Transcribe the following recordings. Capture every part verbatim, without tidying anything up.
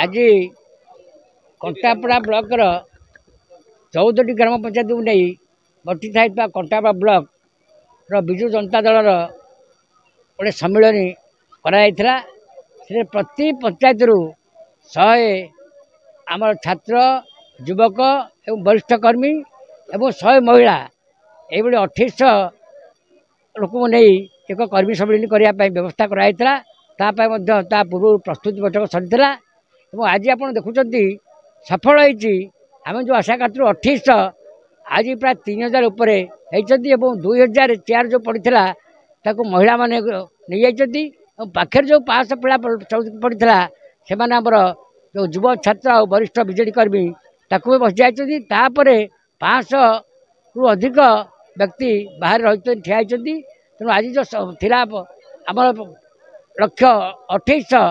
ଆଜି କଣ୍ଟାପଡ଼ା ବ୍ଲକର ଚଉଦଟି ଗ୍ରାମ ପଞ୍ଚାୟତକୁ ନେଇ ଗଠିତ ହେଇଥିବା କଣ୍ଟାପଡ଼ା ବ୍ଲକର ବିଜୁ ଜନତା ଦଳର ଗୋଟେ ସମ୍ମିଳନୀ କରାଯାଇଥିଲା। ସେଥିରେ ପ୍ରତି ପଞ୍ଚାୟତରୁ ଶହେ ଆମର ଛାତ୍ର, ଯୁବକ ଏବଂ ବରିଷ୍ଠ କର୍ମୀ ଏବଂ ଶହେ ମହିଳା, ଏଇଭଳି ଅଠେଇଶହ ଲୋକଙ୍କୁ ନେଇ ଏକ କର୍ମୀ ସମ୍ମିଳନୀ କରିବା ପାଇଁ ବ୍ୟବସ୍ଥା କରାଯାଇଥିଲା। ତା ପାଇଁ ମଧ୍ୟ ତା ପୂର୍ବରୁ ପ୍ରସ୍ତୁତି ବୈଠକ ସରିଥିଲା ଏବଂ ଆଜି ଆପଣ ଦେଖୁଛନ୍ତି ସଫଳ ହେଇଛି। ଆମେ ଯେଉଁ ଆଶା କରିଥିଲୁ ଅଠେଇଶହ, ଆଜି ପ୍ରାୟ ତିନି ହଜାର ଉପରେ ହେଇଛନ୍ତି ଏବଂ ଦୁଇ ହଜାର ଚେୟାର ଯେଉଁ ପଡ଼ିଥିଲା ତାକୁ ମହିଳାମାନେ ନେଇଯାଇଛନ୍ତି ଏବଂ ପାଖରେ ଯେଉଁ ପାଞ୍ଚଶହ ପିଲା ଚଉଦ ପଡ଼ିଥିଲା ସେମାନେ ଆମର ଯେଉଁ ଯୁବ ଛାତ୍ର ଆଉ ବରିଷ୍ଠ ବିଜେଡ଼ି କର୍ମୀ ତାକୁ ବି ବସିଯାଇଛନ୍ତି। ତାପରେ ପାଞ୍ଚଶହରୁ ଅଧିକ ବ୍ୟକ୍ତି ବାହାରେ ରହିଛନ୍ତି, ଠିଆ ହେଇଛନ୍ତି। ତେଣୁ ଆଜି ଯେଉଁ ଥିଲା ଆମର ଲକ୍ଷ୍ୟ ଅଠେଇଶହ,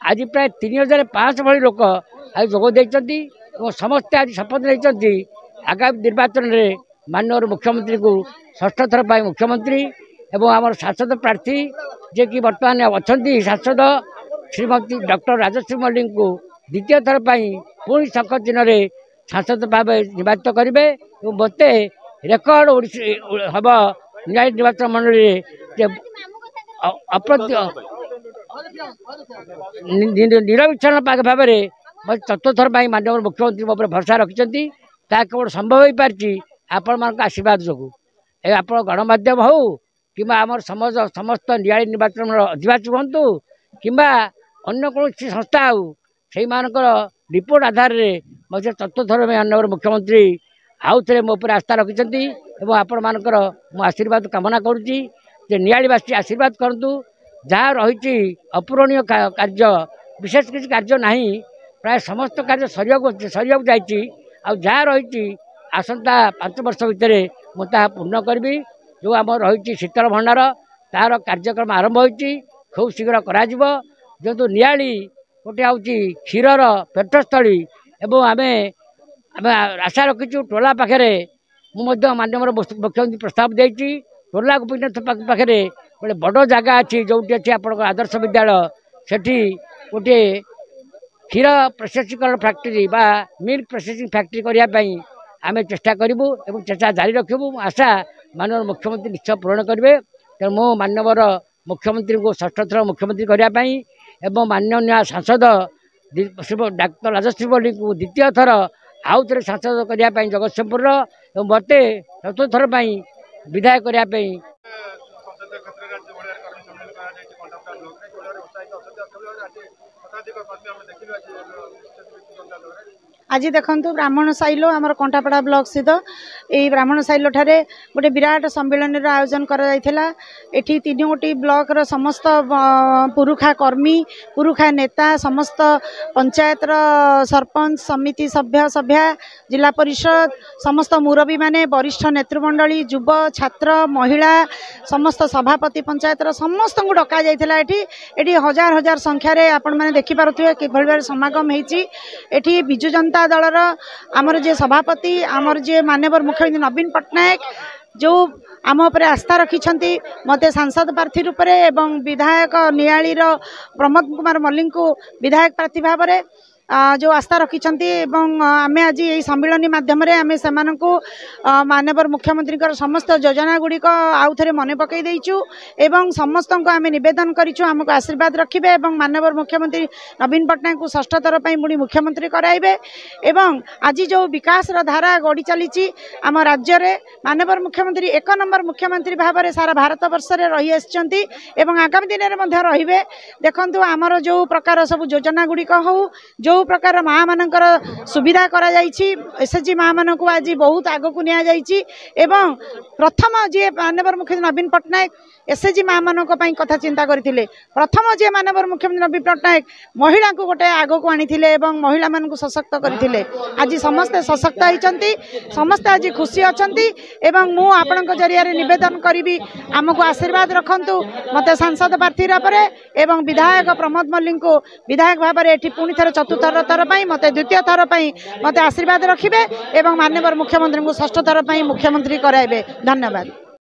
ଆଜି ପ୍ରାୟ ତିନି ହଜାର ପାଞ୍ଚଶହ ଭଳି ଲୋକ ଆଜି ଯୋଗ ଦେଇଛନ୍ତି ଏବଂ ସମସ୍ତେ ଆଜି ଶପଥ ନେଇଛନ୍ତି ଆଗାମୀ ନିର୍ବାଚନରେ ମାନ୍ୟବର ମୁଖ୍ୟମନ୍ତ୍ରୀଙ୍କୁ ଷଷ୍ଠ ଥର ପାଇଁ ମୁଖ୍ୟମନ୍ତ୍ରୀ ଏବଂ ଆମର ସାଂସଦ ପ୍ରାର୍ଥୀ ଯିଏକି ବର୍ତ୍ତମାନ ଅଛନ୍ତି ସାଂସଦ ଶ୍ରୀମତୀ ଡକ୍ଟର ରାଜଶ୍ରୀ ମଲ୍ଲିକଙ୍କୁ ଦ୍ୱିତୀୟ ଥର ପାଇଁ ପୁଣି ଶଙ୍ଖ ଚିହ୍ନରେ ସାଂସଦ ଭାବେ ନିର୍ବାଚିତ କରିବେ ଏବଂ ମୋତେ ରେକର୍ଡ଼ ଓଡ଼ିଶା ହେବ ନିଆଳି ନିର୍ବାଚନ ମଣ୍ଡଳୀରେ ଯେ ଅପ୍ରତ୍ୟ ନିରବିଚ୍ଛନ୍ନ ଭାବରେ ମୋତେ ଚତୁର୍ଥ ଥର ପାଇଁ ମାନ୍ୟବର ମୁଖ୍ୟମନ୍ତ୍ରୀ ମୋ ଉପରେ ଭରସା ରଖିଛନ୍ତି। ତାହା କେବଳ ସମ୍ଭବ ହୋଇପାରିଛି ଆପଣମାନଙ୍କ ଆଶୀର୍ବାଦ ଯୋଗୁଁ। ଏ ଆପଣ ଗଣମାଧ୍ୟମ ହେଉ କିମ୍ବା ଆମର ସମାଜ ସମସ୍ତ ନିଆଳି ନିର୍ବାଚନର ଅଧିବାସୀ ହୁଅନ୍ତୁ କିମ୍ବା ଅନ୍ୟ କୌଣସି ସଂସ୍ଥା ହେଉ, ସେଇମାନଙ୍କର ରିପୋର୍ଟ ଆଧାରରେ ମଧ୍ୟ ଚତୁର୍ଥ ଥର ପାଇଁ ମାନ୍ୟବର ମୁଖ୍ୟମନ୍ତ୍ରୀ ଆଉ ଥରେ ମୋ ଉପରେ ଆସ୍ଥା ରଖିଛନ୍ତି ଏବଂ ଆପଣମାନଙ୍କର ମୁଁ ଆଶୀର୍ବାଦ କାମନା କରୁଛି ଯେ ନିଆଳିବାସୀ ଆଶୀର୍ବାଦ କରନ୍ତୁ। ଯାହା ରହିଛି ଅପୂରଣୀୟ କାର୍ଯ୍ୟ, ବିଶେଷ କିଛି କାର୍ଯ୍ୟ ନାହିଁ, ପ୍ରାୟ ସମସ୍ତ କାର୍ଯ୍ୟ ସରିବାକୁ ସରିବାକୁ ଯାଇଛି। ଆଉ ଯାହା ରହିଛି ଆସନ୍ତା ପାଞ୍ଚ ବର୍ଷ ଭିତରେ ମୁଁ ତାହା ପୂର୍ଣ୍ଣ କରିବି। ଯେଉଁ ଆମର ରହିଛି ଶୀତଳ ଭଣ୍ଡାର, ତାହାର କାର୍ଯ୍ୟକ୍ରମ ଆରମ୍ଭ ହୋଇଛି, ଖୁବ୍ ଶୀଘ୍ର କରାଯିବ। ଯେହେତୁ ନିଆଳି ଗୋଟିଏ ହେଉଛି କ୍ଷୀରର ପେଟସ୍ଥଳୀ ଏବଂ ଆମେ ଆମେ ଆଶା ରଖିଛୁ ଟୋଲା ପାଖରେ, ମୁଁ ମଧ୍ୟ ମାନ୍ୟବର ମୁଖ୍ୟମନ୍ତ୍ରୀ ପ୍ରସ୍ତାବ ଦେଇଛି, ଟୋଲା ଗୋପୀନାଥ ପାଖରେ ଗୋଟେ ବଡ଼ ଜାଗା ଅଛି ଯେଉଁଠି ଅଛି ଆପଣଙ୍କ ଆଦର୍ଶ ବିଦ୍ୟାଳୟ, ସେଠି ଗୋଟିଏ କ୍ଷୀର ପ୍ରୋସେସିଂକରଣ ଫ୍ୟାକ୍ଟ୍ରି ବା ମିଲ୍କ ପ୍ରୋସେସିଂ ଫ୍ୟାକ୍ଟ୍ରି କରିବା ପାଇଁ ଆମେ ଚେଷ୍ଟା କରିବୁ ଏବଂ ଚେଷ୍ଟା ଜାରି ରଖିବୁ। ଆଶା ମାନ୍ୟବର ମୁଖ୍ୟମନ୍ତ୍ରୀ ନିଶ୍ଚୟ ପୂରଣ କରିବେ। ତେଣୁ ମୁଁ ମାନ୍ୟବର ମୁଖ୍ୟମନ୍ତ୍ରୀଙ୍କୁ ଷଷ୍ଠ ଥର ମୁଖ୍ୟମନ୍ତ୍ରୀ କରିବା ପାଇଁ ଏବଂ ମାନ୍ୟନୀୟ ସାଂସଦ ଡାକ୍ତର ରାଜଶ୍ରୀ ମଲ୍ଲିକଙ୍କୁ ଦ୍ୱିତୀୟ ଥର ଆଉ ଥରେ ସାଂସଦ କରିବା ପାଇଁ ଜଗତସିଂହପୁରର ଏବଂ ମୋତେ ଚତୁର୍ଥ ଥର ପାଇଁ ବିଧାୟକ କରିବା ପାଇଁ। ଆଜି ଦେଖନ୍ତୁ ବ୍ରାହ୍ମଣ ସାଇଲୋ ଆମର କଣ୍ଟାପଡ଼ା ବ୍ଲକ ସ୍ଥିତ ଏଇ ବ୍ରାହ୍ମଣ ସାଇଲୋ ଠାରେ ଗୋଟେ ବିରାଟ ସମ୍ମିଳନୀର ଆୟୋଜନ କରାଯାଇଥିଲା। ଏଠି ତିନି ଗୋଟି ବ୍ଲକର ସମସ୍ତ ପୁରୁଖା କର୍ମୀ, ପୁରୁଖା ନେତା, ସମସ୍ତ ପଞ୍ଚାୟତର ସରପଞ୍ଚ, ସମିତି ସଭ୍ୟ ସଭ୍ୟା, ଜିଲ୍ଲା ପରିଷଦ, ସମସ୍ତ ମୁରବୀମାନେ, ବରିଷ୍ଠ ନେତୃମଣ୍ଡଳୀ, ଯୁବ, ଛାତ୍ର, ମହିଳା, ସମସ୍ତ ସଭାପତି ପଞ୍ଚାୟତର ସମସ୍ତଙ୍କୁ ଡକାଯାଇଥିଲା। ଏଠି ଏଠି ହଜାର ହଜାର ସଂଖ୍ୟାରେ ଆପଣମାନେ ଦେଖିପାରୁଥିବେ କିଭଳି ଭାବରେ ସମାଗମ ହେଇଛି। ଏଠି ବିଜୁ ଜନତା ଦଳର ଆମର ଯିଏ ସଭାପତି, ଆମର ଯିଏ ମାନ୍ୟବର ମୁଖ୍ୟମନ୍ତ୍ରୀ ନବୀନ ପଟ୍ଟନାୟକ ଯେଉଁ ଆମ ଉପରେ ଆସ୍ଥା ରଖିଛନ୍ତି ମୋତେ ସାଂସଦ ପ୍ରାର୍ଥୀ ରୂପରେ ଏବଂ ବିଧାୟକ ନିଆଳିର ପ୍ରମୋଦ କୁମାର ମଲ୍ଲିକଙ୍କୁ ବିଧାୟକ ପ୍ରାର୍ଥୀ ଭାବରେ ଯେଉଁ ଆସ୍ଥା ରଖିଛନ୍ତି ଏବଂ ଆମେ ଆଜି ଏହି ସମ୍ମିଳନୀ ମାଧ୍ୟମରେ ଆମେ ସେମାନଙ୍କୁ ମାନ୍ୟବର ମୁଖ୍ୟମନ୍ତ୍ରୀଙ୍କର ସମସ୍ତ ଯୋଜନା ଗୁଡ଼ିକ ଆଉ ଥରେ ମନେ ପକାଇ ଦେଇଛୁ ଏବଂ ସମସ୍ତଙ୍କୁ ଆମେ ନିବେଦନ କରିଛୁ ଆମକୁ ଆଶୀର୍ବାଦ ରଖିବେ ଏବଂ ମାନ୍ୟବର ମୁଖ୍ୟମନ୍ତ୍ରୀ ନବୀନ ପଟ୍ଟନାୟକଙ୍କୁ ଷଷ୍ଠ ଥର ପାଇଁ ପୁଣି ମୁଖ୍ୟମନ୍ତ୍ରୀ କରାଇବେ। ଏବଂ ଆଜି ଯେଉଁ ବିକାଶର ଧାରା ଗଡ଼ି ଚାଲିଛି ଆମ ରାଜ୍ୟରେ, ମାନ୍ୟବର ମୁଖ୍ୟମନ୍ତ୍ରୀ ଏକ ନମ୍ବର ମୁଖ୍ୟମନ୍ତ୍ରୀ ଭାବରେ ସାରା ଭାରତ ବର୍ଷରେ ରହିଆସିଛନ୍ତି ଏବଂ ଆଗାମୀ ଦିନରେ ମଧ୍ୟ ରହିବେ। ଦେଖନ୍ତୁ ଆମର ଯେଉଁ ପ୍ରକାର ସବୁ ଯୋଜନା ଗୁଡ଼ିକ ହେଉ, ଯେଉଁ ପ୍ରକାର ମା ମାନଙ୍କର ସୁବିଧା କରାଯାଇଛି, ଏସ୍ ଏଚ୍ ଜି ମା ମାନଙ୍କୁ ଆଜି ବହୁତ ଆଗକୁ ନିଆଯାଇଛି ଏବଂ ପ୍ରଥମ ଯିଏ ମାନ୍ୟବର ମୁଖ୍ୟମନ୍ତ୍ରୀ ନବୀନ ପଟ୍ଟନାୟକ ଏସ୍ ଏଚ୍ ଜି ମା ମାନଙ୍କ ପାଇଁ କଥା ଚିନ୍ତା କରିଥିଲେ, ପ୍ରଥମ ଯିଏ ମାନ୍ୟବର ମୁଖ୍ୟମନ୍ତ୍ରୀ ନବୀନ ପଟ୍ଟନାୟକ ମହିଳାଙ୍କୁ ଗୋଟେ ଆଗକୁ ଆଣିଥିଲେ ଏବଂ ମହିଳାମାନଙ୍କୁ ସଶକ୍ତ କରିଥିଲେ। ଆଜି ସମସ୍ତେ ସଶକ୍ତ ହେଇଛନ୍ତି, ସମସ୍ତେ ଆଜି ଖୁସି ଅଛନ୍ତି ଏବଂ ମୁଁ ଆପଣଙ୍କ ଜରିଆରେ ନିବେଦନ କରିବି ଆମକୁ ଆଶୀର୍ବାଦ ରଖନ୍ତୁ ମୋତେ ସାଂସଦ ପ୍ରାର୍ଥୀ ଭାବରେ ଏବଂ ବିଧାୟକ ପ୍ରମୋଦ ମଲ୍ଲିକଙ୍କୁ ବିଧାୟକ ଭାବରେ ଏଠି ପୁଣି ଥରେ ଚତୁର୍ଥ ଥର ପାଇଁ ମୋତେ ଦ୍ୱିତୀୟ ଥର ପାଇଁ ମୋତେ ଆଶୀର୍ବାଦ ରଖିବେ ଏବଂ ମାନ୍ୟବର ମୁଖ୍ୟମନ୍ତ୍ରୀଙ୍କୁ ଷଷ୍ଠ ଥର ପାଇଁ ମୁଖ୍ୟମନ୍ତ୍ରୀ କରାଇବେ। ଧନ୍ୟବାଦ।